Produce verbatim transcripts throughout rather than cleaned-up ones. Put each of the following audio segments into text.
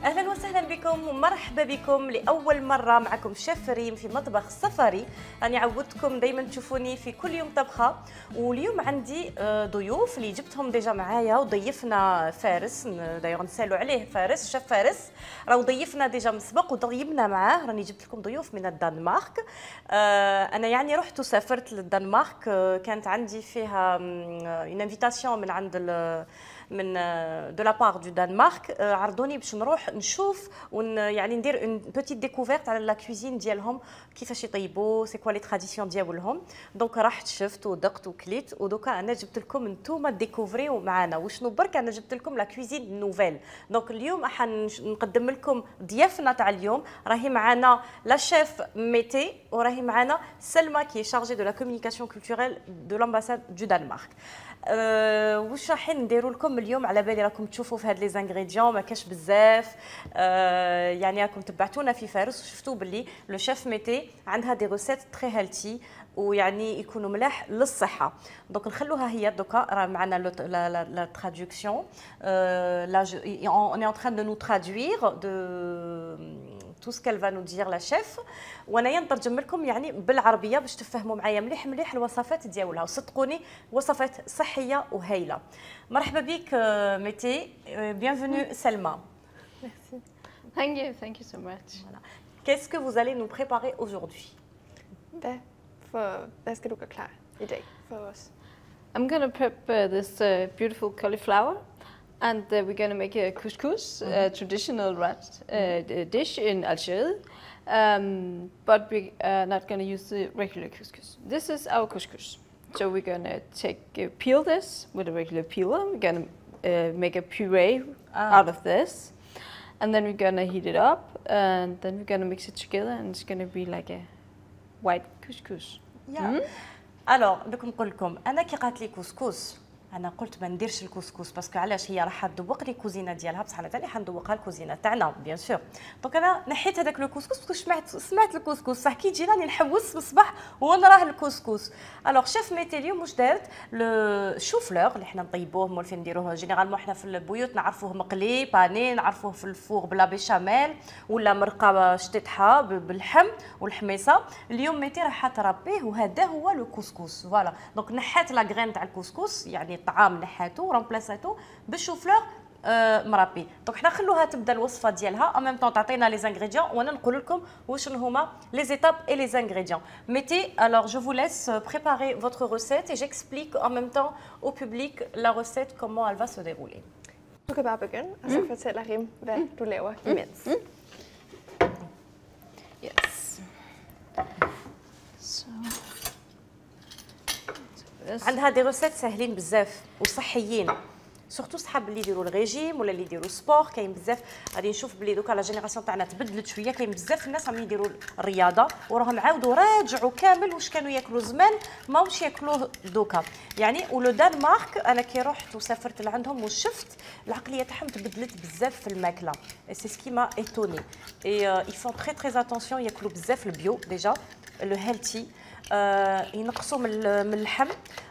اهلا وسهلا بكم ومرحبا بكم لاول مره معكم شيف ريم في مطبخ سفري. راني عودتكم دائما تشوفوني في كل يوم طبخه، واليوم عندي ضيوف اللي جبتهم ديجا معايا وضيفنا فارس، دايوغ نسالوا عليه فارس، شيف فارس راهو ضيفنا ديجا من سبق وطيبنا معاه. راني جبت لكم ضيوف من الدنمارك. انا يعني رحت وسافرت للدنمارك، كانت عندي فيها اون انفيتاسيون من عند من دو لا بار دو دنمارك، عرضوني باش نروح نشوف ون يعني ندير اون بوتيت ديكوفيرت على لا كوزين ديالهم، كيفاش يطيبوا، سي كوا لي تراديسيون ديالهم. دونك رحت شفت ودقت وكليت، ودوكا انا جبت لكم نتوما ديكوفريو معنا وشنو برك انا جبت لكم لا كوزين نوفيل. دونك اليوم راح نقدم لكم ضيافنا تاع اليوم، راهي معنا لا شيف ميتي وراهي معنا سلمى كي شارجي دو لا كومونيكاسيون كولتوريل دو لامباساد دو دنمارك. أه واش رايحين نديروا لكم اليوم؟ على بالي راكم تشوفوا في هاد لي زانغريديون ما كاش بزاف، أه يعني راكم تبعتونا في فارس وشفتوا باللي لو شيف ميتي عندها دي روسيت تري هيلثي ويعني يكونوا ملاح للصحه. دونك نخلوها هي دوكا، راه معنا لا تراديكسيون، لا اون اي en train de nous traduire de tout ce qu'elle va nous dire la chef، وانايا نترجم لكم يعني بالعربيه باش تفهموا معايا مليح مليح الوصفات ديالها، وصدقوني وصفات صحيه وهايله. مرحبا بك ميتي، bienvenue سلمى. Merci. Thank you, thank you so much. Voilà. Qu'est-ce que vous allez nous préparer aujourd'hui? Hvad, for, hvad skal du gøre klar i dag for os? I'm gonna prep uh, this uh, beautiful cauliflower, and uh, we're gonna make a couscous, mm-hmm. a traditional rat, uh, dish in Algeria. Um, but we are not gonna use the regular couscous. This is our couscous. So we're gonna take uh, peel this with a regular peeler. We're gonna uh, make a puree ah. out of this, and then we're gonna heat it up, and then we're gonna mix it together, and it's gonna be like a white couscous. Yeah. Mm-hmm. Alors, دوك نقول لكم انا كي قالت لي كوسكوس انا قلت ما نديرش الكسكس باسكو علاش هي راح تذوق لي الكوزينه ديالها، بصح انا ثاني حندوقها الكوزينه تاعنا بيان سور. دونك انا نحيت هذاك الكسكس باسكو سمعت سمعت الكسكس، صح كي تجي راني نحوس في الصباح ونراه الكسكس. الوغ شيف ميتي اليوم واش دارت؟ لو شوفلور اللي حنا نطيبوه مولفين نديروه جينيرالمون حنا في البيوت نعرفوه مقلي باني، نعرفوه في الفور بلا بيشاميل ولا مرقه شطيطحه باللحم والحميصه. اليوم ميتي راح تربيه وهذا هو لو كسكس. فوالا دونك نحات لا غرين تاع الكسكس، يعني الطعام نحاتو ورامبلاساتو بالشوفلور آه مربي. دونك حنا خلوها تبدا الوصفه ديالها ان ميم طون تعطينا لي زانغريديون وانا نقول لكم واش هما لي زيتاب اي لي زانغريديون. ميتي alors je vous laisse préparer votre recette et j'explique en même temps au public la recette comment elle va se dérouler. Du kan bare begynde, og så fortæller Rim, hvad du laver imens. Yes. So. عندها دي روسيت ساهلين بزاف وصحيين، سورتو صحاب اللي يديروا الريجيم ولا اللي يديروا سبور. كاين بزاف غادي نشوف بلي دوكا لا جينيراسيون تاعنا تبدلت شويه، كاين بزاف الناس راهم يديروا الرياضه وراهم عاودوا راجعوا كامل واش كانوا ياكلوا زمان ماهوش ياكلوه دوكا يعني. ولو دنمارك انا كي رحت وسافرت لعندهم وشفت العقليه تاعهم تبدلت بزاف في الماكله، سي سكي ما ايتوني اي ils font très très attention، ياكلوا بزاف البيو ديجا لو هيلثي، آه ينقصوا من اللحم،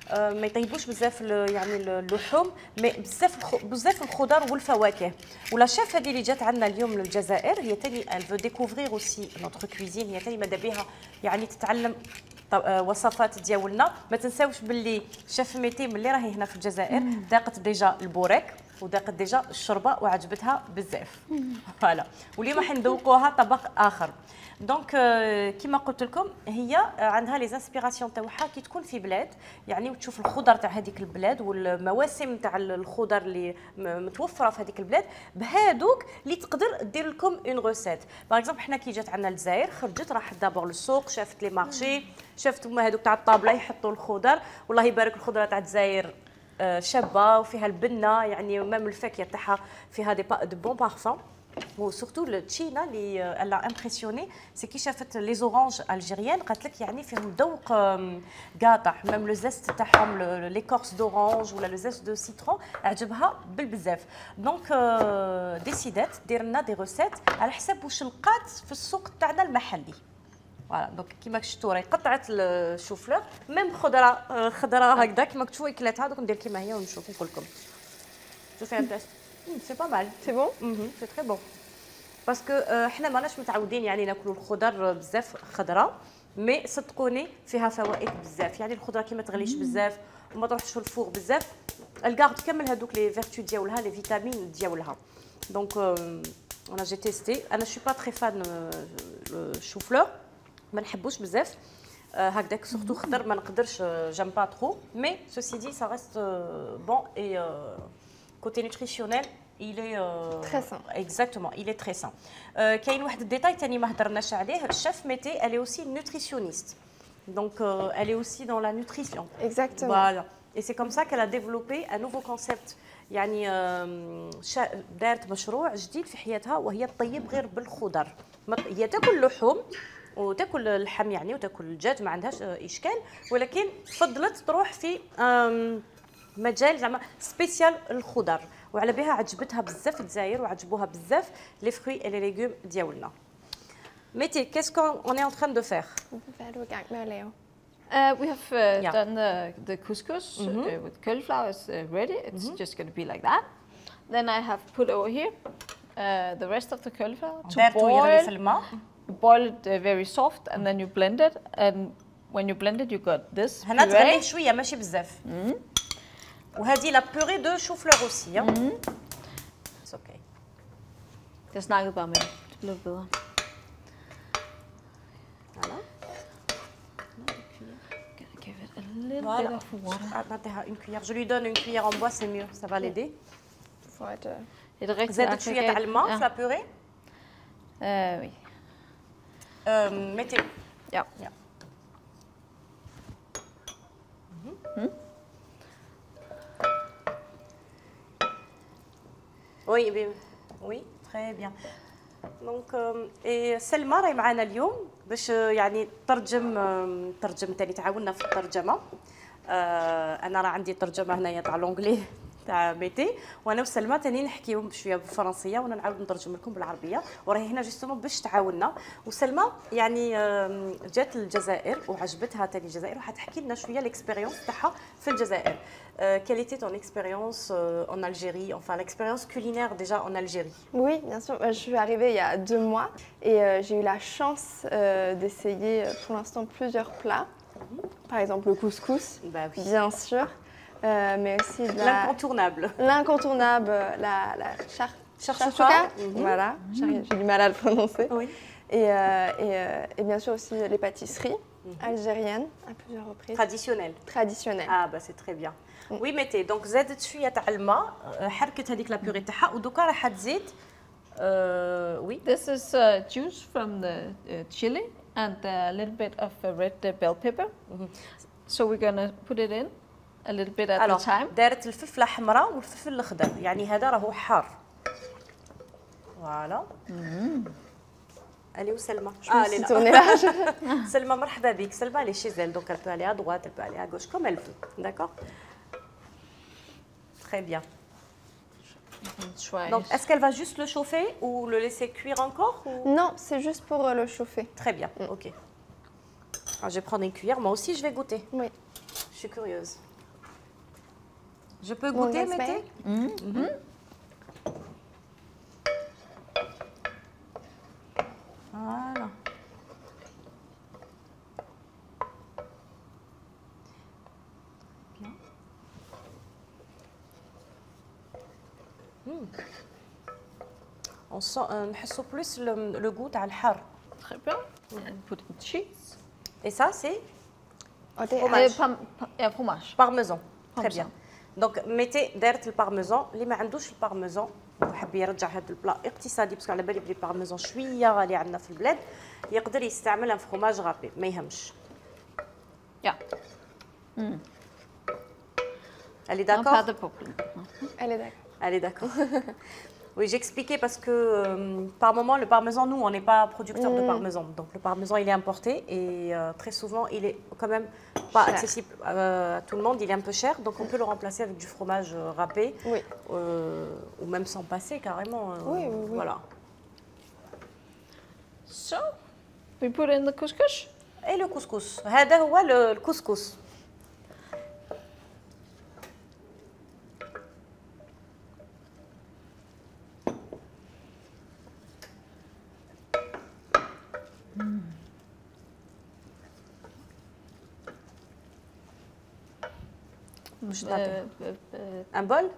آه ما يطيبوش بزاف يعني اللحوم، مي بزاف بزاف الخضر والفواكه. ولا شيف هذه اللي جات عندنا اليوم للجزائر هي ثاني الفو ديكوفرير اوسي نوتر كويزين، هي ثاني ماذا بها يعني تتعلم وصفات ديالنا. ما تنساوش باللي شيف ميتي ملي راهي هنا في الجزائر ذاقت ديجا البوريك وذاقت ديجا الشوربه وعجبتها بزاف. فوالا واليوم راح ندوقوها طبق اخر. دونك كيما قلت لكم هي عندها لي انسبيراسيون تاعها كي تكون في بلاد يعني وتشوف الخضر تاع هذيك البلاد والمواسم تاع الخضر اللي متوفره في هذيك البلاد، بهادوك اللي تقدر دير لكم اون روسيت. باغ اكزومبل حنا كي جات عندنا الجزائر خرجت راحت دابور للسوق، شافت لي مارشي، شافت هما هذوك تاع الطابله يحطوا الخضر، والله يبارك الخضره تاع الجزائر شابه وفيها البنه يعني ميم الفاكهه تاعها فيها دي با دو بون بارفون. وسورتو التشينا اللي الا امبرسيوني سي كي شافت لي زورانج الجيريان قالت لك يعني فيهم ذوق قاطع، ميم لو زيست تاعهم ليكورس دورانج ولا لو زيست دو سيترون عجبها بالبزاف. دونك ديسيدات دير لنا دي روسيت على حساب واش لقات في السوق تاعنا المحلي. فوالا دونك كيما شفتوا راهي قطعت الشوفلور ميم خضره خضره هكذا كيما كتشوفوا كلاتها. دوك ندير كيما هي ونشوف نقول لكم. شوفي هاد سي با مال. سي بون. سي تري بون. باسكو حنا ماناش متعودين يعني ناكلوا الخضر بزاف خضراء، مي صدقوني فيها فوائد بزاف. يعني الخضره كي ما تغليش بزاف وما تروحش في الفوق بزاف، الكارد كامل هذوك لي فيرتو ديالها لي فيتامين ديالها. دونك انا جي تيستي. انا شو با تري فان الشو فلور، ما نحبوش بزاف هكذاك سورتو خضر ما نقدرش، جام با ترو، مي سوسي دي سا ريست بون اي كوتي نوتريسيونيل il est euh, très sain. Exactement, il est très sain. Euh, كاين واحد الديتاي ثاني ما هضرناش عليه، الشيف ميتي elle est aussi nutritionniste. Donc euh, elle est aussi dans la nutrition. Exactement. Voilà. Et c'est comme ça qu'elle a développé un nouveau concept. يعني دارت مشروع جديد في حياتها، وهي تطيب غير بالخضر. هي تاكل لحوم وتاكل اللحم يعني وتاكل الدجاج، ما عندهاش اشكال، ولكن فضلت تروح في مجال زعما سبيسيال الخضر، وعلى بها عجبتها بزاف الجزائر وعجبوها بزاف لي فروي اي لي ليغوم ديالنا. ميتي كيس كون اون اي ان تران دو فير؟ Uh, we have uh, Yeah. done the, the couscous Mhm. uh, with cauliflower is uh, ready. It's Mhm. just going to be like that. Then I have put over here uh, the rest of the cauliflower to دارتو يغلي في boil, الماء. boil it uh, very soft, and then you blend it. And when you blend it, you got this هنا تغليه puree. شويه ماشي بزاف. وهذه لا بوري دو شو فلور اوسي. It's okay. Jeg snakkede bare med det. Det blev bedre. Voilà. Gonna give it a little Voilà. bit of water. Ah, نعطيها une cuillère. Je lui donne une cuillère en bois, c'est mieux. Ça va l'aider. For it, uh, et det rigtige زادت شويه تاع الماء في لا بوري. Uh, oui. Euh, mettez. Ja. Ja. Hmm? Oui, bien. Oui, très bien. دونك اي سلمى راهي معنا اليوم باش يعني ترجم ترجم ثاني تعاوننا في الترجمه. انا راه عندي ترجمه هنايا تاع لونجلي تاع ميتي، وانا وسلمى ثاني نحكيو بشويه بالفرنسيه وانا نعاود نترجم لكم بالعربيه، وراهي هنا جوستومون باش تعاوننا. وسلمى يعني جات للجزائر وعجبتها ثاني الجزائر، وحتحكي لنا شويه الاكسبيريونس تاعها في الجزائر. Euh, quelle était ton expérience euh, en Algérie, enfin l'expérience culinaire déjà en Algérie? Oui, bien sûr. Je suis arrivée il y a deux mois et euh, j'ai eu la chance euh, d'essayer pour l'instant plusieurs plats. Par exemple le couscous, Bah oui. bien sûr, euh, mais aussi de la... L'incontournable. L'incontournable, la, la char... Charchouka. Mm-hmm. Voilà, j'ai du mal à le prononcer. Oui. Et, euh, et, euh, et bien sûr aussi les pâtisseries mm-hmm. algériennes à plusieurs reprises. Traditionnel. Traditionnelles. Ah bah c'est très bien. وي ميتي دونك زادت شويه تاع الماء، حركت هذيك لا بيغي تاعها، ودوكا راح تزيد وي. This is uh, juice from the uh, chili and a little bit of uh, red uh, bell pepper. Mm-hmm. So we're gonna put it in a little bit at Alors, a time. دارت الفلفله حمراء والفلفل الخضر، يعني هذا راهو حار. فوالا. Allez où Selma? Ah, elle est là. Selma, مرحبا بك. Selma, elle est chez elle, donc elle peut aller à droite, elle peut aller à gauche, comme elle veut. D'accord? Très bien. Donc, est-ce qu'elle va juste le chauffer ou le laisser cuire encore ou... Non, c'est juste pour euh, le chauffer. Très bien, mm. ok. Alors, je vais prendre une cuillère. Moi aussi, je vais goûter. Oui. Je suis curieuse. Je peux goûter, bon, Mété? Mm-hmm. Mm-hmm. Voilà. Bien. Mm. On sent, euh, نحسو plus le, le goût تاع الحار. Très bien. And put in cheese. Et ça, c'est fromage. Uh, pam, pam, yeah, fromage. Parmesan. Très Parmesan. bien. Donc, mettez دارت البارميزان، اللي ما عندوش البارميزان وحب يرجع هذا البلا اقتصادي باسكو على بالي بلي البارميزان شويه غالي عندنا في البلاد، يقدر يستعمل ان فروماج غابي ما يهمش. Yeah. Mm. Elle est d'accord? Pas de problème. Elle est d'accord. Elle est d'accord. Oui, j'expliquais parce que euh, par moment, le parmesan, nous, on n'est pas producteur mmh. de parmesan. Donc le parmesan, il est importé et euh, très souvent, il est quand même pas cher. Accessible euh, à tout le monde. Il est un peu cher. Donc on peut le remplacer avec du fromage euh, râpé oui. euh, ou même sans passer carrément. Euh, oui, oui, oui. Voilà. So, we put in the couscous. Et le couscous. هذا هو le couscous. باش Euh, نعطيها. euh, euh, ان بول.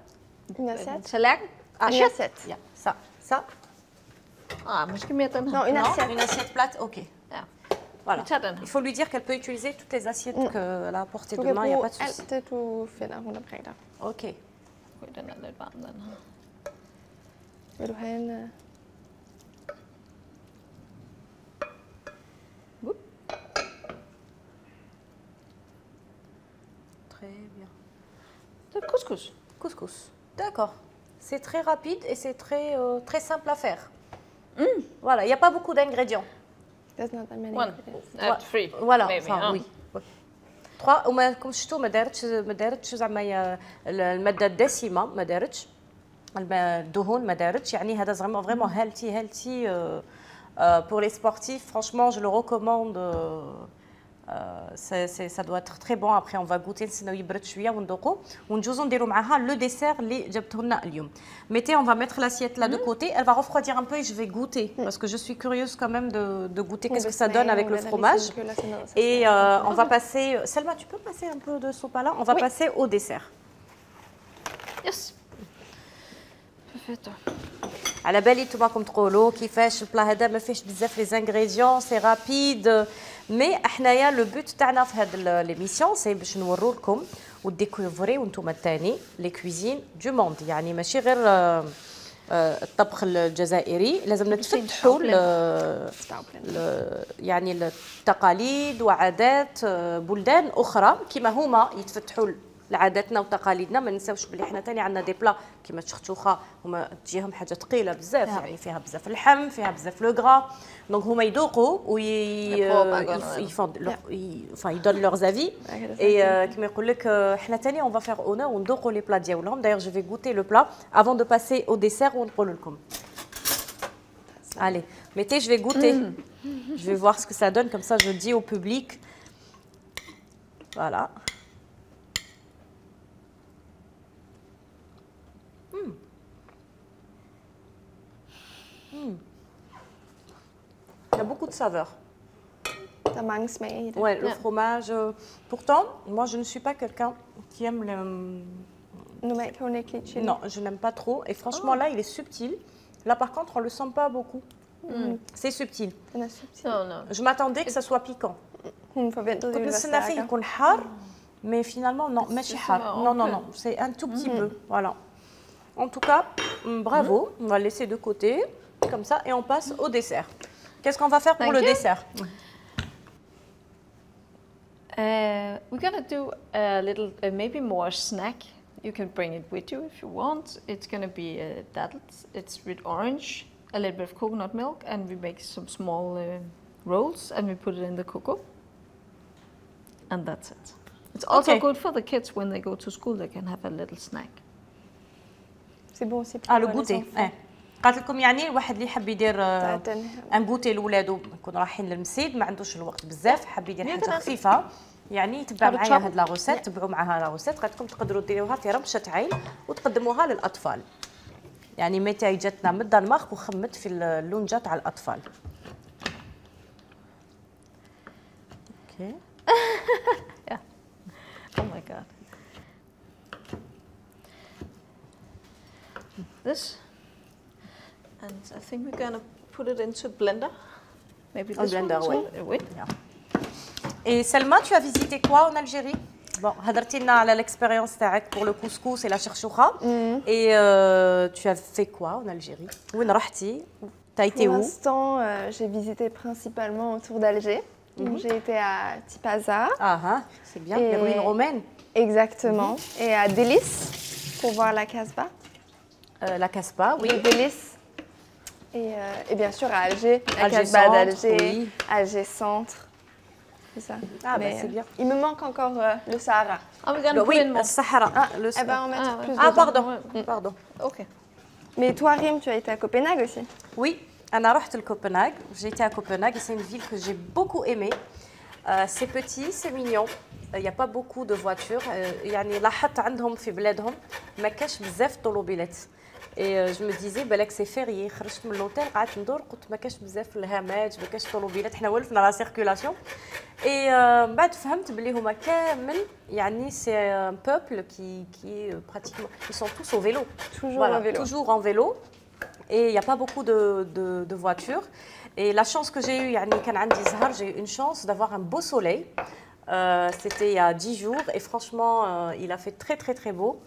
Une assiette. tallerken? Ah, Une chef. assiette. Ja, ça, ça. Ah, måske mere den her. Non, une Non, assiette. une assiette plate, ok. Ja. Voilà. Vi tager den her. Il faut lui dire qu'elle peut utiliser toutes les assiettes Mm. qu'elle a à portée Du de kan main, il n'y a bruge pas de souci. alt det, du finder rundt omkring dig. Ok. Okay, den er lidt varm, den her. Vil du have en... øh, Très bien. Det er couscous. Couscous. D'accord. C'est très rapide et c'est très, euh, très simple à faire. Voilà, il n'y a pas beaucoup d'ingrédients. There's not that many One. ingredients. Uh, three. Voilà, maybe, enfin, huh? oui. trois وما كوم شفتوا ما دارتش ما دارتش زعما ي- الماده الدسمه ما دارتش الم- الدهون ما دارتش يعني هذا زعما فريمون هيلثي هيلثي pour les sportifs franchement je le recommande euh, c'est, c'est, ça doit être très bon après on va goûter نستناو يبرد شويه وندوقو ونجوزو نديرو معاها لو ديسير اللي جبته لنا اليوم. Mettez, on va mettre l'assiette là de côté, elle va refroidir un peu et je vais goûter parce que je suis curieuse quand même de, de goûter qu'est-ce que ça donne avec le fromage. Et euh, on va passer, Selma tu peux passer un peu de sopala, on va Oui. passer au dessert. Yes. Perfetto. على بالي نتوما راكم تقولوا كيفاش البلا هذا ما فيهش بزاف لي زانغريديون سي رابيد مي حنايا لو بوت تاعنا في هذا ليميسيون سي باش نورو لكم وديكوفريو نتوما الثاني لي كويزين دو موند يعني ماشي غير آه، آه، الطبخ الجزائري لازم نتفتحوا ل- ل- يعني التقاليد وعادات آه، بلدان اخرى كما هما يتفتحوا لعاداتنا وتقاليدنا. ما ننساوش بلي حنا ثاني عندنا دي بلا كيما الشختوخه هما تجيهم حاجه ثقيله بزاف يعني فيها بزاف اللحم فيها بزاف لو غرا دونك هما يذوقوا وي يدون لوغ زافي اي كيما يقول لك آه، حنا ثاني اون فا فيغ اونور وندوقوا لي بلا ديالهم. دايوغ جو في غوتي لو بلا افون دو باسي او ديسير ونقول لكم. Allez, mettez, je vais goûter. Je vais voir ce que ça donne, comme ça je dis au public. Voilà. Mm. Mm. Il y a beaucoup de saveurs. Der er mange smage i det. Ouais, le Ja. fromage. euh, Pourtant, moi je ne suis pas quelqu'un qui aime le. Normalt kan hun ikke lide chili. Non, je n'aime pas trop. Et franchement, là, il est subtil. Là, par contre, on le sent pas beaucoup. C'est subtil. Den er subtil. No, no. Je m'attendais que ça soit piquant. Hun forventede, det كنت ville være نستنى فيه stærkere. يكون حار mais finalement non ماشي C'est حار marrant, non non ok. non c'est un tout petit peu voilà. En tout cas mm, bravo, on va laisser de côté comme ça et on passe au dessert. Qu'est-ce qu'on va faire pour Thank le you. dessert? Uh, we're gonna do a little, uh, maybe more snack. You can bring it with you if you want. It's gonna be uh, dattels. It's with orange, a little bit of coconut milk, and we make some small uh, rolls and we put it in the cocoa. And that's it. It's also Okay. good for the kids when they go to school. They can have a little snack. C'est bon aussi pour اه لو les غوتي enfants. اه قالت لكم يعني الواحد اللي يحب يدير تاع آه، التنهي. ان غوتي لولادو يكون رايحين للمسيد ما عندوش الوقت بزاف حاب يدير حاجه يقدر- خفيفه يعني تبع هذا معايا تشابل. هاد لا روسيت تبعوا معاها لا روسيت قالت لكم تقدروا ديروها في رمشه عين وتقدموها للاطفال يعني متى جاتنا من الدنمارك وخمت في اللونجه تاع الاطفال. اوكي Oh my god. This. And I think we're gonna put it into a blender. Maybe Un this blender, one as ouais. well. Oui. Et Selma, tu as visité quoi en Algérie? Bon, هضرتي لنا على l'expérience تاعك pour le couscous et la cherchoucha. Et euh, tu as fait quoi en Algérie? وين رحتي? T'as été Pour où? l'instant, euh, j'ai visité principalement autour d'Alger. Donc, j'ai été à Tipaza, Ah, hein, c'est bien, Et- les ruines romaines. exactement, et à Délice, pour voir la Casbah. Euh, la Casbah, oui. Et Délice. Et, euh, et bien sûr à Alger, la Alger Casbah Centre, d'Alger, oui. Alger Centre. C'est ça. Ah, bah, Mais, c'est euh, bien. Il me manque encore euh, le Sahara. Oh, we're gonna Le- put oui, in more. le Sahara. Ah, le eh ben, on va mettre Ah, plus ouais. Ah, dedans. pardon, Ouais. pardon. Okay. Mais toi, Rim, tu as été à Copenhague aussi. Oui, أنا رحت Copenhague. J'ai été à Copenhague et c'est une ville que j'ai beaucoup aimée. Euh, c'est petit, c'est mignon. Il n'y a pas beaucoup de voitures. Euh, يعني لاحظت عندهم في بلادهم ما كاش بزاف طوموبيلات. اي جو مي ديزي بالك سي فيريي. خرجت من لوتيل قعدت ندور قلت ما كاش بزاف الهامات ما كاش طوموبيلات حنا ولفنا لا سيركولاسيون. اي من بعد فهمت بلي هما كامل يعني سي ان بوبل كي كي براتيكمون ils sont tous au vélo. Toujours en vélo. Toujours en vélo. Et il n'y a pas beaucoup de, de, de voitures. Et la chance que j'ai eue, يعني كان عندي زهر, j'ai eu une chance d'avoir un beau soleil. Euh, C'était il y a dix jours et franchement, euh, il a fait très très très beau.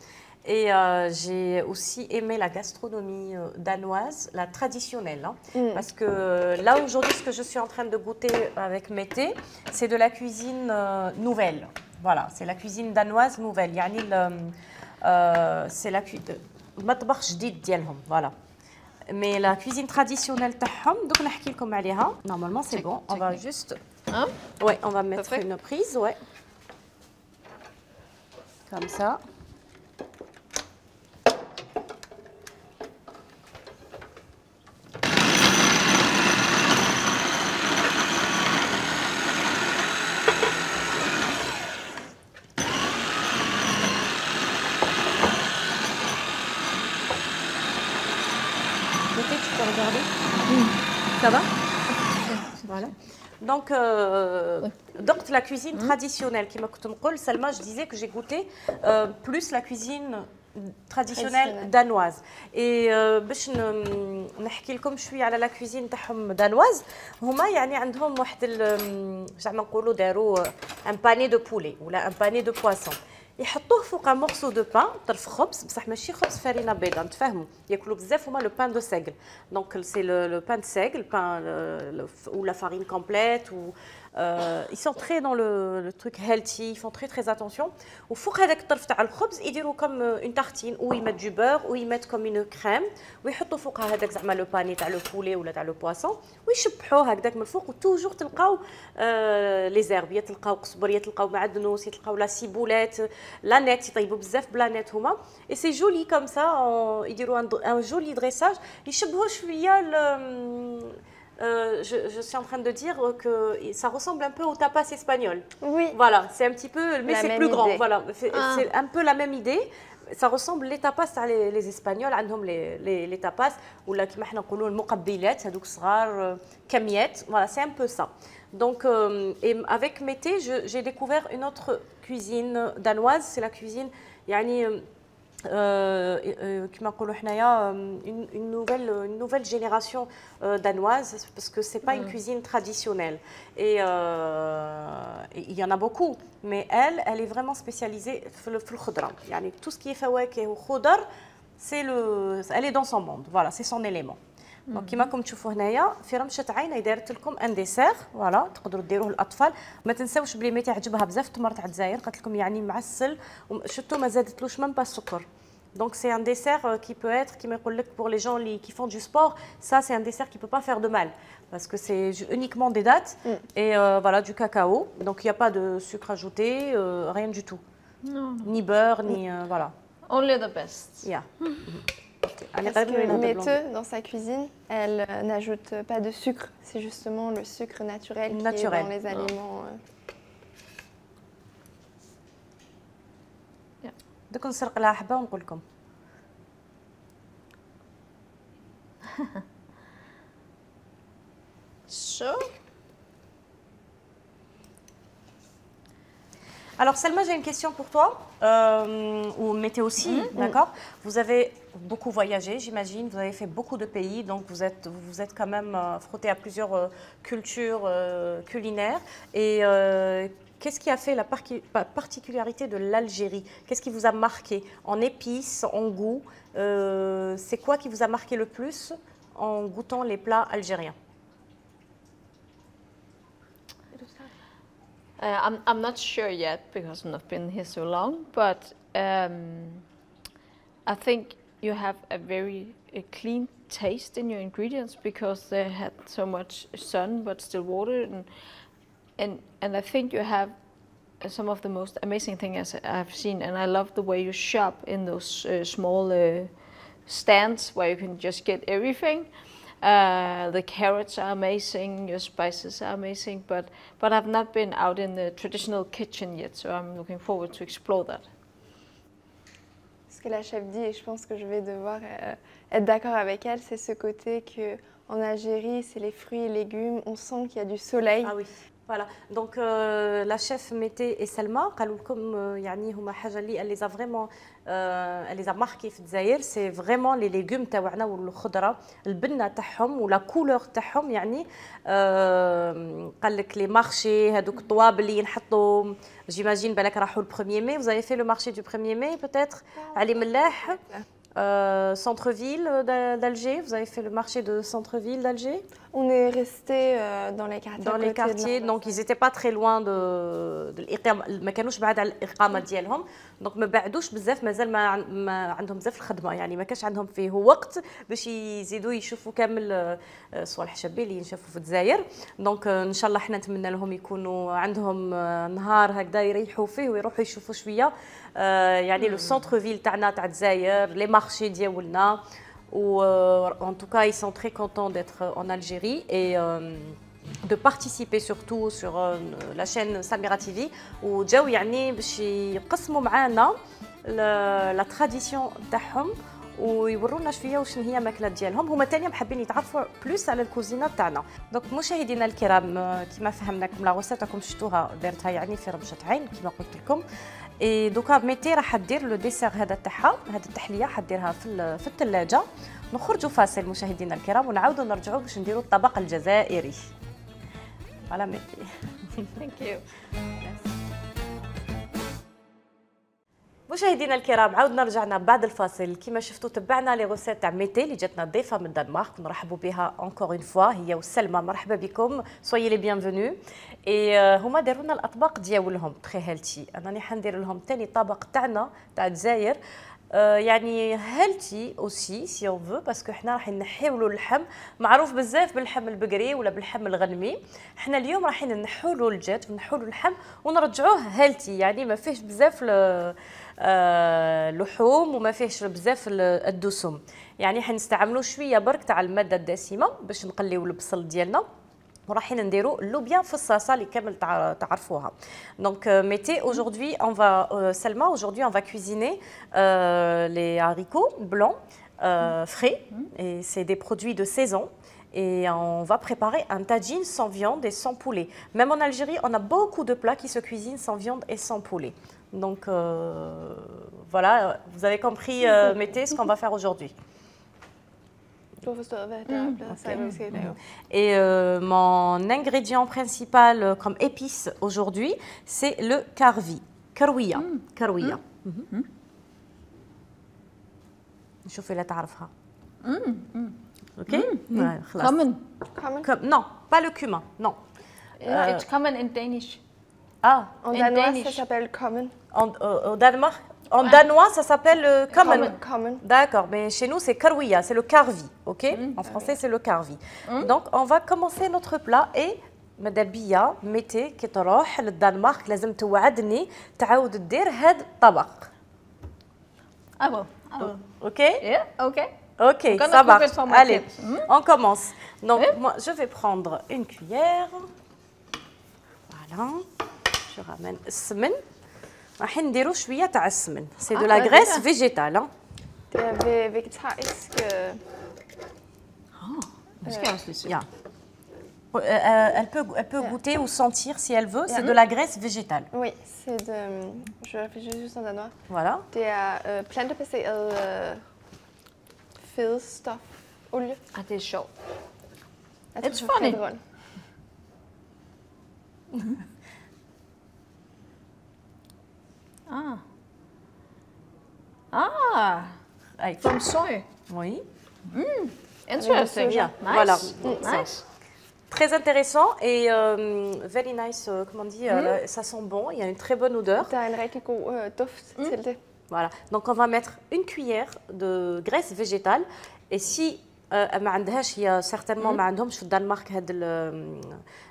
Et euh, j'ai aussi aimé la gastronomie danoise, la traditionnelle. Hein, mm. Parce que là aujourd'hui, ce que je suis en train de goûter avec Mété, c'est de la cuisine euh, nouvelle. Voilà, c'est la cuisine danoise nouvelle. يعني euh, c'est la cuisine. مطبخ جديد ديالهم. Voilà. Mais la cuisine traditionnelle تاعهم دوك نحكي لكم عليها. Normalement c'est bon. On va juste. Hein? Ouais, on va mettre une prise, ouais. Comme ça. Tu peux regarder. Mmh. Ça va? Voilà. Donc, euh, oui. donc la cuisine mmh. traditionnelle, qui m'a coûté Salma, je disais que j'ai goûté euh, plus la cuisine traditionnelle danoise. Et باش نحكي لكم شويه على la cuisine تاعهم danoise, هما يعني عندهم واحد زعما نقولوا داروا un panier de poulet ولا un panier de poisson. يحطوه فوق ان مورسو دو بان طرف خبز بصح ماشي خبز فرينه بيضاء نتفاهموا ياكلوا بزاف هما لو بان دو سيغل دونك سي لو بان دو سيغل بان ou la farine complète ou euh, ils sont très dans le, le truc healthy, ils font très très attention. Au فوق هذاك الطرف تاع الخبز يديروا comme une tartine où ils mettent du beurre ou ils mettent comme une crème ويحطوا فوقها هذاك زعما لو باني تاع لو بولي ولا تاع لو بواسون ويشبحوه هكذاك من الفوق وتوجور تلقاو لي زيرب، تلقاو قزبر، تلقاو معدنوس، تلقاو لا سيبولات، لا نيت يطيبوا بزاف بلا نيت هما. اي سي جولي كوم سا يديروا ان جولي دريساج يشبهوا شويه. Euh, je, je suis en train de dire que ça ressemble un peu au tapas espagnol. Oui. Voilà, c'est un petit peu, mais c'est plus idée. Grand. Voilà, c'est ah. un peu la même idée. Ça ressemble les tapas les, les Espagnols, عندهم les les les tapas ولا كيما حنا نقولوا المقبلات هذوك صغار كميات. Voilà, c'est un peu ça. Donc euh, et avec Mété, j'ai découvert une autre cuisine danoise, c'est la cuisine يعني كما نقولوا حنايا une nouvelle une nouvelle génération danoise parce que c'est pas une cuisine traditionnelle et il y en a beaucoup mais elle elle est vraiment spécialisée في الخضره يعني tout ce qui est فواكه وخضر c'est le elle est dans son monde. Voilà, c'est son élément. دونك كيما راكم تشوفوا هنايا في رمشه عينه دارت لكم ان ديسير. فوالا تقدروا ديروه للاطفال. ما تنساوش بلي ميتي عجبها بزاف التمر تاع الجزائر قالت لكم يعني معسل وشتو ما زادتلوش ميم با السكر. Donc c'est un dessert qui peut être qui me pour les gens qui font du sport, ça c'est un dessert qui peut pas faire de mal parce que c'est uniquement des dattes mm. et euh, voilà du cacao. Donc il n'y a pas de sucre ajouté, euh, rien du tout. Non. Ni beurre ni euh, voilà. Only the best. Yeah. Parce que Mété, dans sa cuisine, elle euh, n'ajoute pas de sucre. C'est justement le sucre naturel qui naturel. est dans les aliments. Euh... دوك نسرق لها حبه ونقول لكم. So. Alors Selma, j'ai une question pour toi, euh, ou Mété aussi, mm-hmm. d'accord. Vous avez beaucoup voyagé, j'imagine, vous avez fait beaucoup de pays, donc vous êtes, vous êtes quand même euh, frotté à plusieurs euh, cultures euh, culinaires. Et euh, qu'est-ce qui a fait la particularité de l'Algérie? Qu'est-ce qui vous a marqué en épices, en goût? euh, C'est quoi qui vous a marqué le plus en goûtant les plats algériens? Uh, I'm, I'm not sure yet because I've not been here so long, but um, I think you have a very a clean taste in your ingredients because they had so much sun but still water, and and, and I think you have some of the most amazing things I've seen, and I love the way you shop in those uh, small uh, stands where you can just get everything. Uh, the carrots are amazing, your spices are amazing, but but I've not been out in the traditional kitchen yet, so I'm looking forward to explore that. Ce que la chef dit et je pense que je vais devoir euh, être d'accord avec elle, c'est ce côté que en Algérie, c'est les fruits et légumes, on sent qu'il y a du soleil. Ah oui. Voilà, donc euh, la chef Mété et Selma قالوا لكم يعني هما حاجه اللي اللي فريمون اللي زا ماركي في الجزائر سي فريمون لي ليغوم تاعنا والخضره البنه تاعهم ولا كولور تاعهم يعني قال لك لي مارشي هذوك الطوابل اللي ينحطوا جيماجين بالك راحوا البروميير ماي vous avez fait le marché du premier mai peut-être علي ملاح Euh, centre-ville d'Alger, vous avez fait le marché de centre-ville d'Alger? On est resté euh, dans les quartiers. Dans les quartiers, donc ils n'étaient pas très loin de, de الإقامة، ما كانوش بعاد على الإقامة ديالهم، دونك ما بعدوش بزاف، مازال ما ما عندهم بزاف الخدمة، يعني ما كانش عندهم فيه وقت باش يزيدوا يشوفوا كامل صوالح شابين اللي ينشافوا في الجزائر، دونك إن شاء الله حنا نتمنى لهم يكونوا عندهم نهار هكذا يريحوا فيه ويروحوا يشوفوا شوية يعني لو سونتر فيل تاعنا تاع الجزائر، لي مارشي ديالنا. Ou euh, en tout cas, ils sont très contents d'être en Algérie et euh, de participer surtout sur euh, la chaîne Samira T V. où جاو يعني باش يقسموا معنا la tradition تاعهم ويورونا شويه وشنو هي ماكله ديالهم. هما ثاني حابين يتعرفوا بلوس على الكوزينه تاعنا. دونك مشاهدينا الكرام كما فهمناكم لا غوسيت راكم شفتوها دارتها يعني في رمشه عين كما قلت لكم. اي دوكا ميتي راح دير لو ديسير هذا تاعها، هذه التحليه حديرها في في الثلاجه. نخرجوا فاصل مشاهدينا الكرام ونعاودوا نرجعوا باش نديروا الطبق الجزائري. فوالا ميتي. Thank you. مشاهدينا الكرام عاودنا رجعنا بعد الفاصل. كما شفتوا تبعنا لي غوسيت تاع ميتي اللي جاتنا ضيفه من الدنمارك، نرحبوا بها انكور اون فوا هي وسلمى. مرحبا بكم، سويي لي بيانفونو. اي هما داروا لنا الاطباق ديالهم تري هيلتي. انا حندير لهم ثاني طبق تاعنا تاع الجزائر يعني هيلتي اوسي سي اون فو باسكو حنا راح نحيولوا اللحم معروف بزاف باللحم البقري ولا باللحم الغنمي. حنا اليوم رايحين نحولوا الجات ونحولوا اللحم ونرجعوه هيلتي يعني ما فيهش بزاف اللحوم وما فيهش بزاف الدسم، يعني حنستعملوا شويه برك تاع الماده الدسمه باش نقليو البصل ديالنا وراحين نديروا اللوبيا في الصلصه اللي كامل تعرفوها. Donc mettez aujourd'hui on va euh, Selma aujourd'hui on va cuisiner euh, les haricots blancs euh, frais et c'est des produits de saison. Et on va préparer un tagine sans viande et sans poulet. Même en Algérie, on a beaucoup de plats qui se cuisinent sans viande et sans poulet. Donc euh, voilà, vous avez compris, euh, mettez ce qu'on va faire aujourd'hui. Et euh, mon ingrédient principal comme épice aujourd'hui, c'est le karvi, karouia, karouia. شوفي لا تعرفها. Ok? Common. Non, pas le cumin, non. Yeah, it's common in Danish. Ah, en danois, ça s'appelle common. En, euh, au Danemark, en danois, ça s'appelle euh, common. Common. D'accord, mais chez nous, c'est karouia, c'est le karvi, ok? Mm. En français, c'est le karvi. Mm. Donc, on va commencer notre plat et ماذا بيا متى كي تروح للدنمارك لازم توعدني تعاود دير هذا الطبق. Ah bon. Ah bon. Ok? Yeah, ok. Ok, ça marche. Allez, mm. on commence. Donc, oui. moi, je vais prendre une cuillère. Voilà. Je ramène السمن. راح نديرو شوية تاع السمن. C'est de la graisse végétale. Hein. Vegetarisk. Ah, est-ce Yeah. Euh, elle peut, elle peut yeah. goûter ou sentir si elle veut. Yeah. C'est de la graisse végétale. Oui, c'est de. Je réfléchis juste en danois. Voilà. Det er øh, plantebaseret øh, fedstof, olie. Ah, det er sjovt. It's funny. Ah. Ah. Avec from soy. Oui. Mm. Interesting. Yeah. Nice. Voilà. Nice. Très intéressant et euh, very nice, euh, comment on dit, mm. euh, ça sent bon, il y a une très bonne odeur. Der er en rigtig god øh, duft mm. til det. Voilà, donc on va mettre une cuillère de graisse végétale et si ما عندهاش هي certainement ما عندهمش في الدنمارك هاد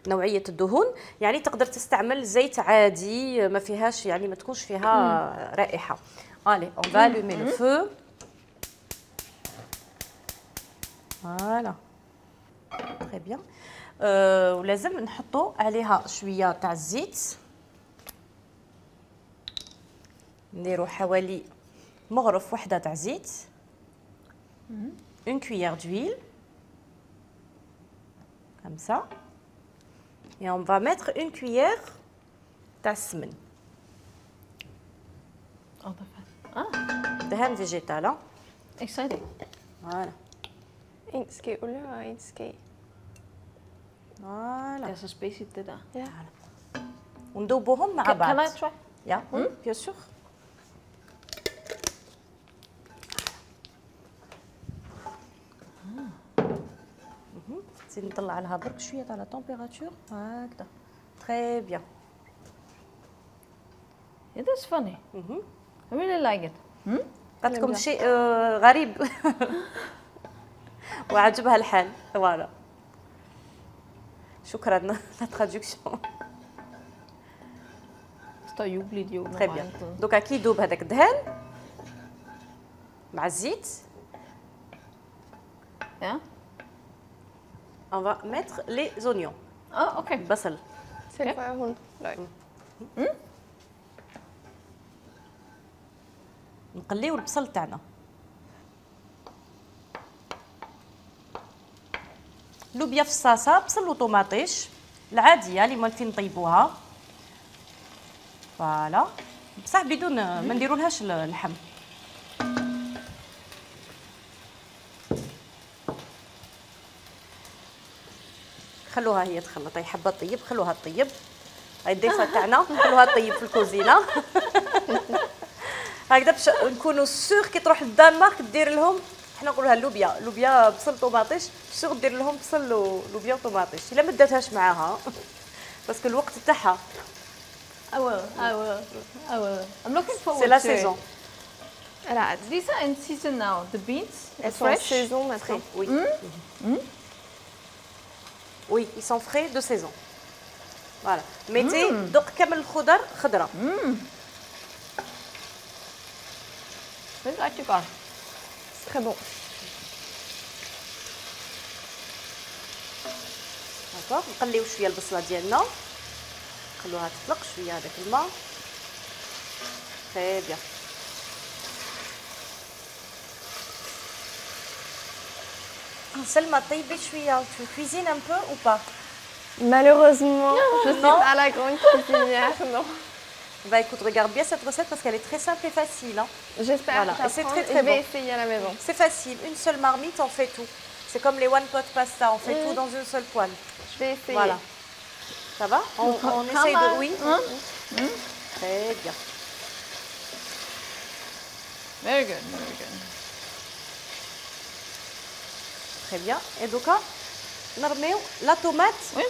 نوعيه الدهون يعني تقدر تستعمل زيت عادي ما فيهاش يعني ما تكونش فيها رائحه. Allez, on va allumer le feu. Voilà. Très bien. Euh, ولازم نحطوا عليها شويه تاع الزيت. نديروا حوالي مغرف وحده تاع زيت. Une cuillère d'huile. Comme ça. Et on va mettre une cuillère تاع السمن. دهان فيجيتال. ها Exciting. فوالا Eentje olie, eentje. فوالا There's a space in there. Ja. وندوبوهم مع Can, بعض. can I try? يا بيان سور. نزيد نطلع لها برك شويه تاع لا تمبيراتور هكذا. تري بيان. It is funny. I really like it. قالت لكم شيء آه، غريب وعجبها الحال. فوالا شكرا لا ترادكسيون. Står jubligt jo. تري بيان. دوكا كي يذوب هذاك الدهان مع الزيت Ja. on va mettre les oignons. Oh, okay. البصل. C'est le feuille leuk. نقليو البصل تاعنا. لوبيا في الصاصه بصل وطوماطيش العاديه اللي مالتين نطيبوها. فوالا بصح بدون ما نديرولهاش اللحم. خلوها هي تخلط. هي حابه طيب خلوها طيب. هاي الضيفه تاعنا خلوها طيب في الكوزينه. هكذا باش نكونوا سور كي تروح للدنمارك دير لهم حنا نقولوها اللوبيا لوبيا بصل طوماطيش سور دير لهم بصل ولوبيا وطوماطيش الا ما داتهاش معاها باسكو الوقت تاعها. I will. I will. I will. I'm looking forward سي لا to سيزون. it. Elle a hâte. These are in season now. The beans. Elles sont en fresh. saison maintenant. Oui. Oui, ils sont frais de saison. Voilà. mettez دوق كامل الخضر خضره. This is actually good. C'est très bon. داكوغ نقليو شويه البصله ديالنا نخلوها تطلق شويه هذاك الماء. تري بيان. سلمى طيبي شويه. tu cuisines un peu ou pas? Malheureusement, je suis Non. pas la grande cuisinière, non. Bah écoute, regarde bien cette recette parce qu'elle est très simple et facile. Hein. J'espère Voilà. Et c'est j'apprends très, et très je vais bon. essayer à la maison. C'est facile, une seule marmite, on fait tout. C'est comme les one pot pasta, on fait tout dans une seule poêle. Je vais essayer. Voilà. Ça va? On, on essaye de... Oui. Hein? Très bien. Very good. Very good. Très bien. Et donc, là, on remet la tomate Oui.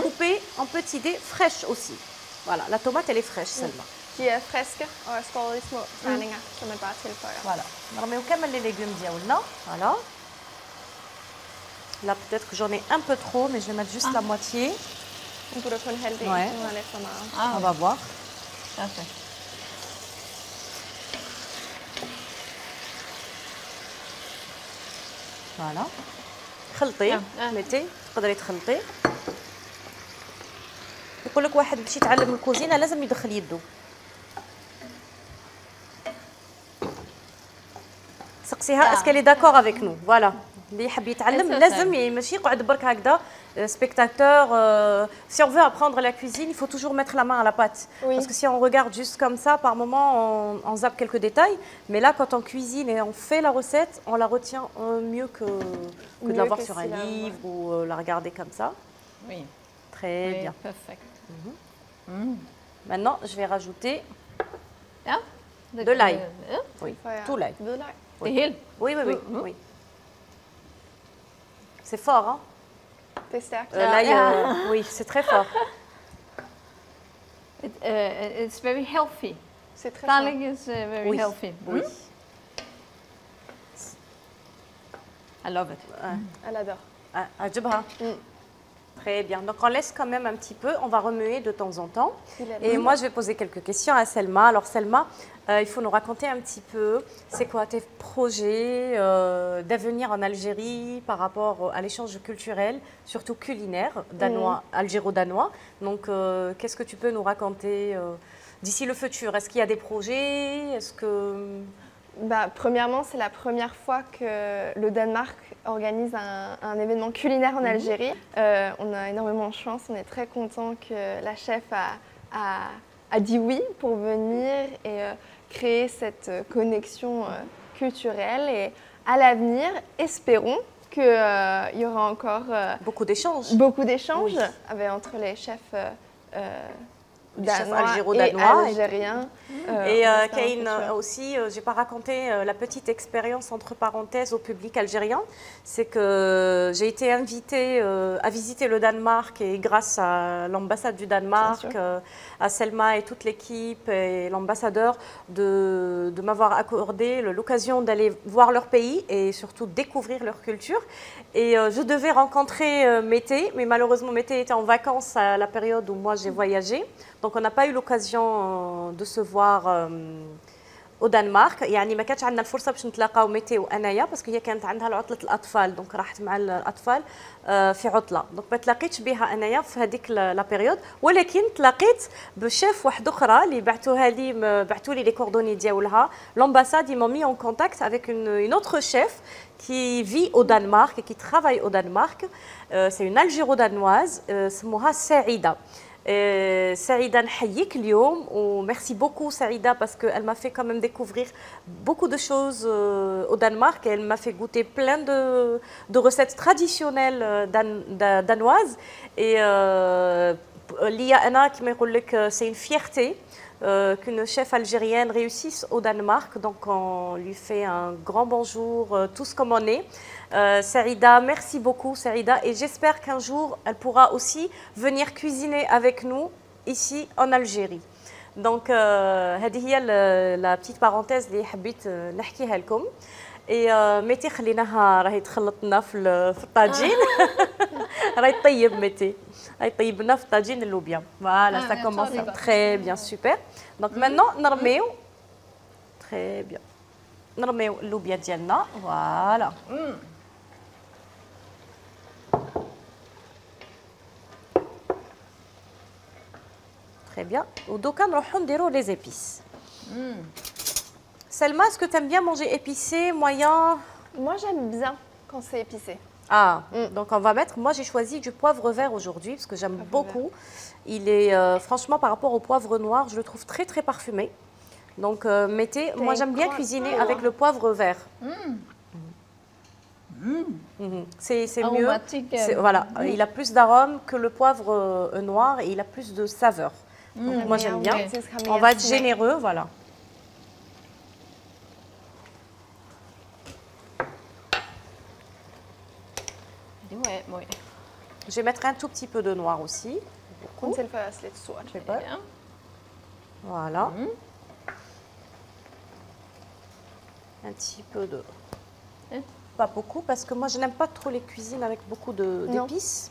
coupée en petits dés, fraîche aussi. Voilà, la tomate, elle est fraîche seulement. Die uh, friske og skåret i små terninger, som man bare tilføjer. Voilà. On remet quand même les légumes diaoulna. Voilà. Là, peut-être que j'en ai un peu trop, mais je vais mettre juste la moitié. Nu putter kun halvdelen, Ouais. så nu er lidt for meget. Ah, On va voir. perfect. فوالا خلطي آه، آه. ميتي تقدري تخلطي. يقول لك واحد باش يتعلم الكوزينه لازم يدخل يدو. سقسيها آه. اسكو لي داكور افيك نو. فوالا اللي يحب يتعلم C'est ça. لازم ي- ماشي يقعد برك هكذا spectateur. euh, si on veut apprendre la cuisine, il faut toujours mettre la main à la pâte. Oui. Parce que si on regarde juste comme ça, par moment, on, on zappe quelques détails. Mais là, quand on cuisine et on fait la recette, on la retient euh, mieux que, que de Mieux la voir que sur si un la- livre ou euh, la regarder comme ça. Oui. Très Oui, bien. perfect. Maintenant, je vais rajouter Ja. de l'ail. Ja. Oui, Tilføjer tout l'ail. hvidløg. Det hele. Oui, oui, oui. Mhm. oui. C'est fort, hein Det er stærkt. Euh, L'ail, Ja. euh, oui, c'est très fort. It, uh, it's very healthy. C'est très Garlic fort. is uh, very Oui. healthy. Oui. I love it. Elle adore. Ah, عجبها. Très bien. Donc on laisse quand même un petit peu, on va remuer de temps en temps. Il est Et bon. moi je vais poser quelques questions à Selma. Alors Selma, euh, il faut nous raconter un petit peu, c'est quoi tes projets euh, d'avenir en Algérie par rapport à l'échange culturel, surtout culinaire, danois, algéro-danois. Donc euh, qu'est-ce que tu peux nous raconter euh, d'ici le futur? Est-ce qu'il y a des projets? Est-ce que Bah, premièrement, c'est la première fois que le Danemark organise un, un événement culinaire en Algérie. Euh, on a énormément de chance, on est très content que la chef a, a, a dit oui pour venir et euh, créer cette connexion euh, culturelle. Et à l'avenir, espérons qu'il euh, y aura encore euh, beaucoup d'échanges. Beaucoup d'échanges oui. avec, entre les chefs euh, euh, danois et algériens. Euh, et euh, Kane aussi, euh, j'ai pas raconté euh, la petite expérience entre parenthèses au public algérien, c'est que j'ai été invitée euh, à visiter le Danemark et grâce à l'ambassade du Danemark, euh, à Selma et toute l'équipe et l'ambassadeur de, de m'avoir accordé l'occasion d'aller voir leur pays et surtout découvrir leur culture. Et euh, je devais rencontrer euh, Mété, mais malheureusement Mété était en vacances à la période où moi j'ai voyagé. Donc on n'a pas eu l'occasion de se voir euh, au Danemark. يعني ما كانتش عندنا الفرصه باش نتلاقاو ميتي وانايا باسكو هي كانت عندها عطله الاطفال دونك راحت مع الاطفال في عطله دونك ما تلاقيتش بها انايا في هذيك لا بيريود ولكن تلاقيت بشيف واحده اخرى اللي بعثوها لي بعثوا لي لي كوردوني ديالها l'ambassade ils m'ont mis en contact avec une, une autre chef qui vit au Danemark et qui travaille au Danemark. Euh, c'est une algéro-danoise, euh, سموها سعيده. Euh, Saïda نحييك اليوم و merci beaucoup Saïda parce qu'elle m'a fait quand même découvrir beaucoup de choses euh, au Danemark et elle m'a fait goûter plein de, de recettes traditionnelles dan, da, danoises et ليا أنا كما يقول لك c'est une fierté euh, qu'une chef algérienne réussisse au Danemark donc on lui fait un grand bonjour euh, tous comme on est. Euh, Saïda, merci beaucoup Saïda et j'espère qu'un jour elle pourra aussi venir cuisiner avec nous ici en Algérie. Donc هذه هي la petite parenthèse اللي حبيت نحكيها لكم. Et ميتي خليناها راهي تخلط لنا في في الطاجين. راهي طيب ميتي. راهي طيب لنا في الطاجين اللوبيا. Voilà, ça commence très bien, super. Donc maintenant نرميو très bien. نرميو اللوبيا ديالنا. Voilà. Très bien. Donc, on va les épices. Mm. Selma, est-ce que tu aimes bien manger épicé, moyen? Moi, j'aime bien quand c'est épicé. Ah, mm. donc on va mettre... Moi, j'ai choisi du poivre vert aujourd'hui parce que j'aime beaucoup. Vert. Il est, euh, franchement, par rapport au poivre noir, je le trouve très, très parfumé. Donc, euh, mettez... Moi, j'aime bien cuisiner avec le poivre vert. Mm. Mm. Mm-hmm. C'est mieux. Voilà, mm. il a plus d'arôme que le poivre euh, noir et il a plus de saveur. Donc, mmh, moi j'aime bien. On va être généreux, voilà. Je vais mettre un tout petit peu de noir aussi. Voilà. Mmh. Un petit peu de... Mmh. Pas beaucoup parce que moi je n'aime pas trop les cuisines avec beaucoup d'épices.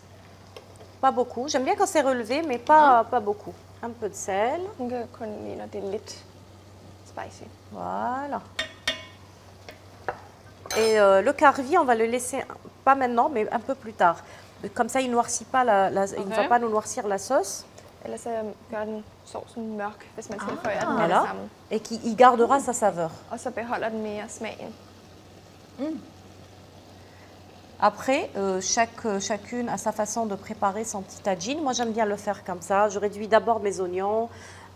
Pas beaucoup. J'aime bien quand c'est relevé, mais pas, mmh. pas beaucoup. Un peu de sel. Spicy. Voilà. Et euh, le carvi, on va le laisser, pas maintenant, mais un peu plus tard. Comme ça, il ne noircit pas la, la, okay. il ne va pas nous noircir la sauce. Ah, voilà. Et qui il gardera mm. sa saveur. Mm. Après, euh, chaque, chacune a sa façon de préparer son petit tagine. Moi, j'aime bien le faire comme ça. Je réduis d'abord mes oignons,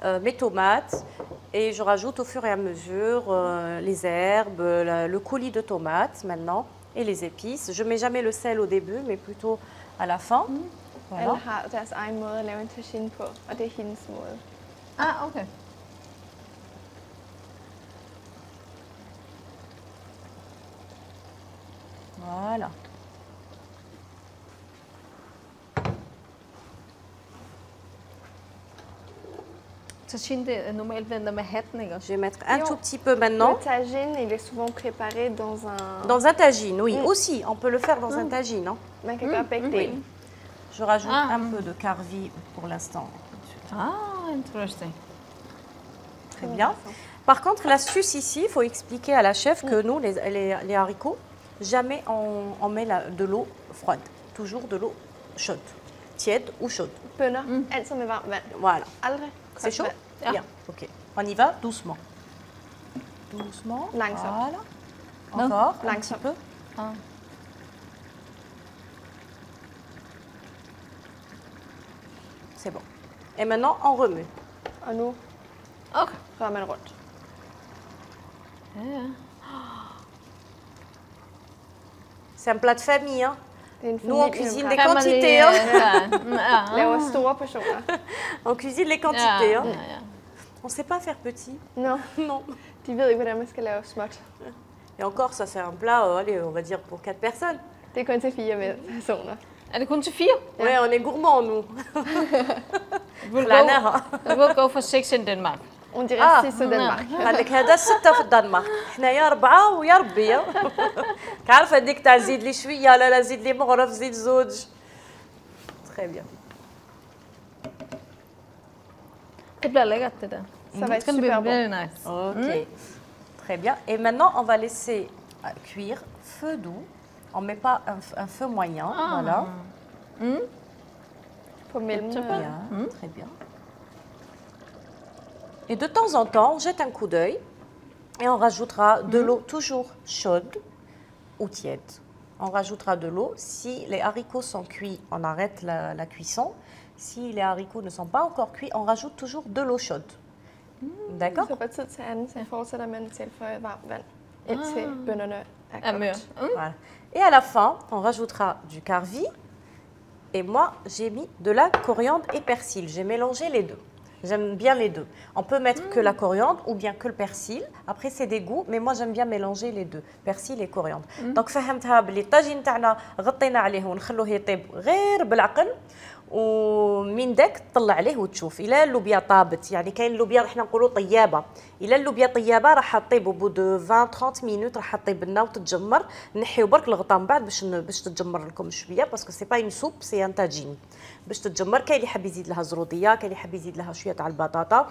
euh, mes tomates et je rajoute au fur et à mesure euh, les herbes, la, le coulis de tomates maintenant et les épices. Je ne mets jamais le sel au début, mais plutôt à la fin. Mm. Voilà. Ah, ok. Voilà. Je vais mettre un tout petit peu maintenant. Le tagine, il est souvent préparé dans un... Dans un tagine, oui, mm. aussi. On peut le faire dans mm. un tagine. Hein. Mm. Oui. Je rajoute ah. un peu de carvi pour l'instant. Ah, intéressant. Très bien. Par contre, l'astuce ici, il faut expliquer à la chef que nous, les, les, les haricots, jamais on, on met la, de l'eau froide. Toujours de l'eau chaude. Tiède ou chaude. Mm. Voilà. C'est chaud? Ja. Bien, ok. On y va doucement. doucement. Langzaam. Voilà. Non. Encore un Langzaam. petit peu. Ah. C'est bon. Et maintenant, on remue. En nu Okay. rører man rundt. Ja, ja. C'est un plat de famille. Hein. Det er en Nous, on familie, cuisine der des Kan man quantités. lige, Hein. øh, ja. laver store portioner. On cuisine les Ja, quantités. ja, Hein. ja. On ne sait pas faire petit. Nå, Non. de ved ikke, hvordan man skal lave småt. Et encore, ça c'est un plat, euh, allez, on va dire pour quatre personnes. Det er kun til fire med personer. Er det kun til fire? Ouais, on est gourmands, nous. We'll خلعناها. go, we'll go for six in Denmark. On dirait Ah, six au Danmark. قال لك هذا ستة في الدنمارك، حنايا أربعة ويا ربي. كعرف هذيك تاع زيد لي شوية، لا لا زيد لي مغرف، زيد زوج. Très bien. Det bliver lækkert, det der. Ça va It's être gonna be super bon. very nice. Ok. Très bien. Et maintenant, on va laisser euh, cuire feu doux. On ne met pas un, f- un feu moyen. Voilà. På mellem. Super. Bien, très bien. Et de temps en temps, on jette un coup d'œil et on rajoutera de l'eau toujours chaude ou tiède. On rajoutera de l'eau. Si les haricots sont cuits, on arrête la, la cuisson. Si les haricots ne sont pas encore cuits, on rajoute toujours de l'eau chaude. D'accord? Så fra tid til anden, så fortsætter man til for varmt vand, indtil bønnerne er Er mør. kogt. Mm. Voilà. Et à la fin, on rajoutera du carvi. Et moi, j'ai mis de la coriandre et persil. J'ai mélangé les deux. J'aime bien les deux. On peut mettre que la coriandre ou bien que le persil. Après, c'est des goûts, mais moi, j'aime bien mélanger les deux, persil et coriandre. Donc, فهمتها بلي الطاجين تاعنا غطينا عليه ونخلوه يطيب غير بالعقل. ومن داك تطلع عليه وتشوف الى اللوبيا طابت، يعني كاين اللوبيا احنا نقولوا طيابه، الى اللوبيا طيابه راح طيب بو دو عشرين ثلاثين مينوت راح طيب لنا وتتجمر. نحيو برك الغطا من بعد باش باش تتجمر لكم شويه باسكو سي با اون سوب سي ان طاجين باش تتجمر. كاين اللي حاب يزيد لها زروديه، كاين اللي حاب يزيد لها شويه تاع البطاطا،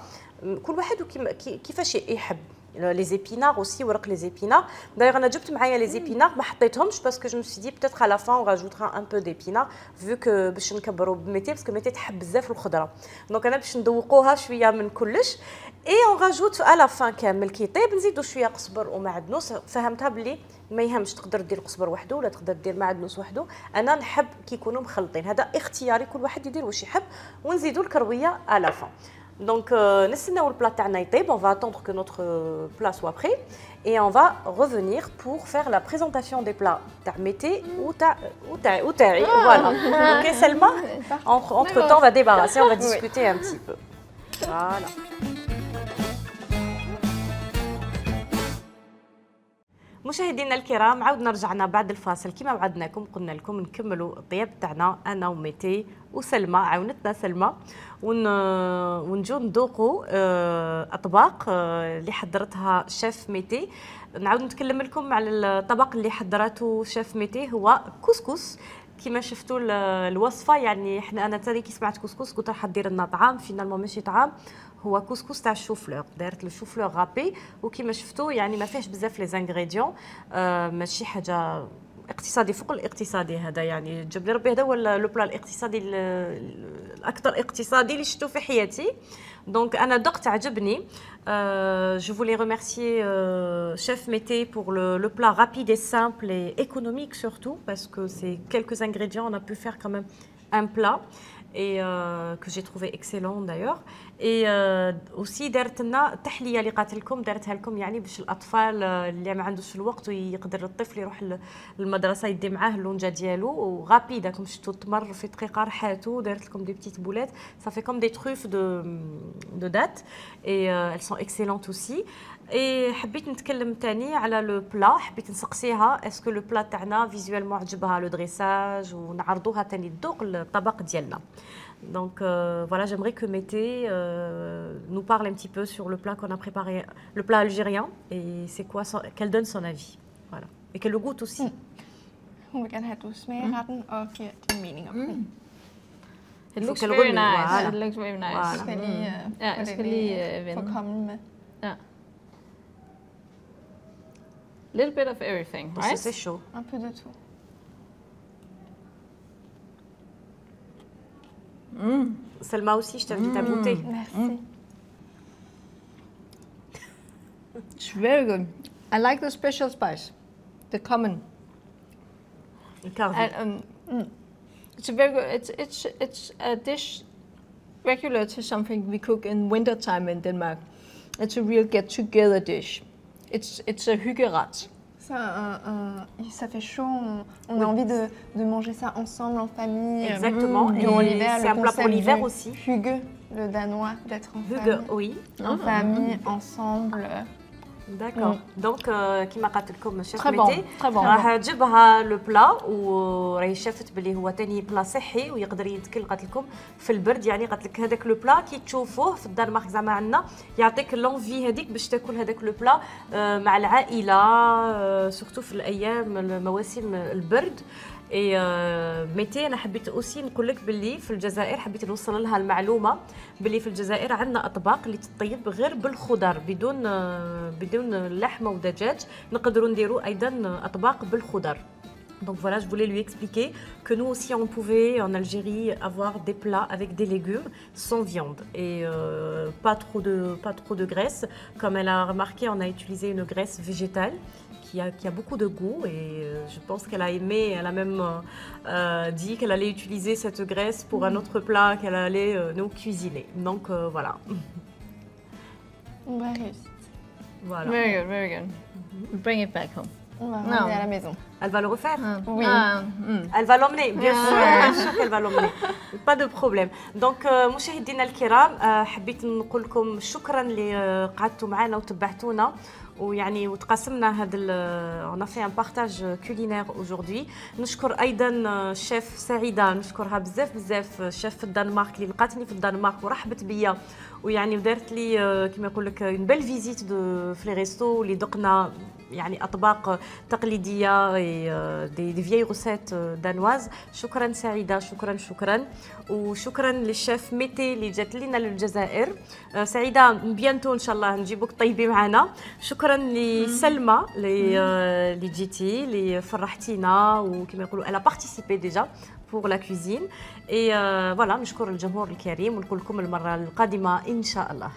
كل واحد وكيما- كي- كيفاش يحب. لي زيبينار اوسي، ورق لي زيبينار. دايوغ انا جبت معايا لي زيبينار ما حطيتهمش باسكو جو مسي دي بتاتر على فان اون راجوترا ان بو ديبينار فيو كو باش نكبروا بميتي باسكو ميتي تحب بزاف الخضره. دونك انا باش ندوقوها شويه من كلش. اي اون راجوت على فان كامل كي يطيب نزيدوا شويه قزبر ومعدنوس. فهمتها بلي ما يهمش تقدر دير القزبر وحده ولا تقدر دير معدنوس وحده. انا نحب كي يكونوا مخلطين، هذا اختياري كل واحد يدير واش يحب. ونزيدوا الكرويه على فان. Donc, euh, نستناو البلا تاعنا يطيب. On va attendre que notre euh, plat soit prêt et on va revenir pour faire la présentation des plats تاع ميتي وتاع وتاع وتاعي. Voilà. Ok, Selma. Entre, entre temps, on va débarrasser, on va discuter un petit peu. Voilà. مشاهدينا الكرام، عاودنا رجعنا بعد الفاصل كما وعدناكم. قلنا لكم نكملوا الطياب تاعنا انا وميتي وسلمى، عاونتنا سلمى، ون ونجو نذوقوا اطباق اللي حضرتها شيف ميتي. نعاود نتكلم لكم على الطبق اللي حضرته شيف ميتي، هو كسكس. كما شفتوا الوصفه، يعني احنا انا تاني كي سمعت كسكس قلت راح دير لنا طعام، فينالمون ماشي طعام، هو كسكس تاع الشوفلور. دارت الشوفلور غابي وكما شفتوا يعني ما فيهش بزاف لي زانغريديون، آه ماشي حاجه اقتصادي فوق الاقتصادي. هذا يعني جاب لي ربي، هذا هو لو بلا الاقتصادي الاكثر اقتصادي اللي شفتو في حياتي. دونك انا دقت عجبني. Euh, je voulais remercier euh, Chef Mété pour le, le plat rapide et simple et économique surtout, parce que c'est quelques ingrédients, on a pu faire quand même un plat et euh, que j'ai trouvé excellent d'ailleurs. Et euh, aussi دارت لنا تحليه اللي قالت لكم، دارتها لكم يعني باش الاطفال اللي ما عندوش الوقت ويقدر الطفل يروح للمدرسه يدي معاه اللونجه ديالو وغابيد. راكم شفتوا تمر في دقيقه رحاتو. دارت لكم دي بتيت بولات، ça fait comme des truffes de de date et euh, elles sont excellentes aussi. Et حبيت نتكلم تاني على لو بلا، حبيت نسقسيها اسكو لو بلا تاعنا فيزوالمون عجبها لو دريساج ونعرضوها تاني تذوق الطبق ديالنا. Donc euh, voilà, j'aimerais que Mété euh, nous parle un petit peu sur le plat qu'on a préparé, le plat algérien, et c'est quoi, son, qu'elle donne son avis, voilà, et qu'elle le goûte aussi. Hun vil gerne have, at du smager retten og giver din mening om den. It Faut looks qu'elle very remue, nice. voilà. It looks very nice. Voilà. Jeg skal lige uh, Ja, jeg skal lige uh, få vende. komme med. Ja. Little bit of everything, Parce que right? c'est chaud. Un peu de tout. Mm. Selma aussi, je t'invite à goûter. Merci. It's very good. I like the special spice, the common. الكارفي. And um, mm, it's a very good. It's it's it's a dish regular to something we cook in winter time in Denmark. It's a real get-together dish. It's it's a hyggeret. Ça, un- un- ça fait chaud, on, on a envie de, de manger ça ensemble en famille. Exactement. Mmh. Et Durant l'hiver, c'est le un plat pour concept l'hiver du aussi. Hygge, le danois, d'être en Hygge, famille. oui. En famille, ensemble. D'accord. Donc كما قالت لكم الشيف Très bon, ميتي très bon. راح تجيبها لو بلا وراهي شافت بلي هو ثاني بلا صحي ويقدر يتكل قالت لكم في البرد يعني قالت لك هذاك لو بلا كي تشوفوه في الدنمارك زعما عندنا يعطيك لونفي هذيك باش تاكل هذاك لو بلا مع العائله سورتو في الايام مواسم البرد. اي ميتي انا حبيت اوسي نقول لك باللي في الجزائر حبيت نوصل لها المعلومه باللي في الجزائر عندنا اطباق اللي تطيب غير بالخضر بدون بدون لحمه ودجاج نقدروا نديروا ايضا اطباق بالخضر. Donc voilà, je voulais lui expliquer que nous aussi on pouvait en Algérie avoir des plats avec des légumes sans viande et euh, pas trop de pas trop de graisse. Comme elle a remarqué, on a utilisé une graisse végétale qui a, qui a beaucoup de goût et euh, je pense qu'elle a aimé, elle a même euh, dit qu'elle allait utiliser cette graisse pour un autre plat qu'elle allait euh, nous cuisiner. Donc euh, voilà. On va réussir. Voilà. Very good, very good. Bring it back home. On va Non. ramener à la maison. Elle va le refaire. Oui. Ah, mm. Elle va l'emmener, bien sûr, bien sûr qu'elle va l'emmener. Pas de problème. Donc مشاهدينا الكرام حبيت نقول لكم شكرا اللي قعدتوا معنا وتبعتونا ويعني وتقاسمنا هذا on a fait un partage culinaire aujourd'hui. نشكر ايضا الشيف سعيده نشكرها بزاف بزاف الشيف في الدنمارك اللي لقاتني في الدنمارك ورحبت بيا ويعني ودارت لي كما يقول لك اون بيل فيزيت دو في لي ريستو اللي دقنا يعني اطباق تقليديه دي دي فيي روسيت دانواز. شكرا سعيده شكرا شكرا وشكرا للشيف ميتي اللي جات لنا للجزائر. سعيده بيانتو ان شاء الله نجيبوك طيبي معنا. شكرا لسلمى اللي اللي جيتي اللي فرحتينا وكما يقولوا elle a participé déjà pour la cuisine et voilà نشكر الجمهور الكريم ونقول لكم المره القادمه ان شاء الله.